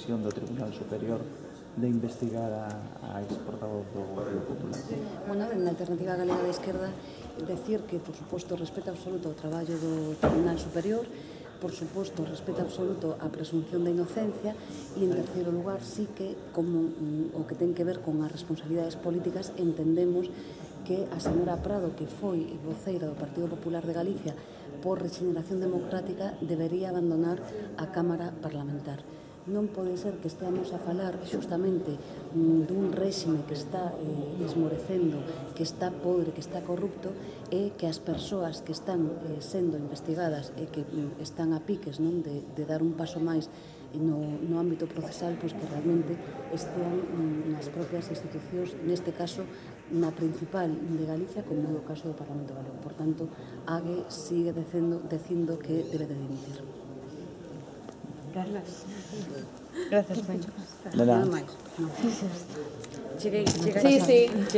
decisión do Tribunal Superior de investigar a ex-portavoz do Grupo Popular? Bueno, na Alternativa Galega de Esquerda, decir que, por suposto, respeto absoluto ao traballo do Tribunal Superior, por suposto, respeto absoluto á presunción de inocencia e, en terceiro lugar, sí que, como o que ten que ver con as responsabilidades políticas, entendemos que a señora Prado, que foi voceira do Partido Popular de Galicia por Regeneración Democrática, debería abandonar a Cámara Parlamentar. Non pode ser que esteamos a falar xustamente dun réxime que está esmorecendo, que está podre, que está corrupto, e que as persoas que están sendo investigadas e que están a piques de dar un paso máis no ámbito procesal, pois que realmente estean nas propias institucións, neste caso na principal de Galicia, como no caso do Parlamento Galego. Por tanto, AGE sigue dicindo que debe de dimitir. Gracias. Gracias, Pencho. De nada. Nada máis. Sí, sí.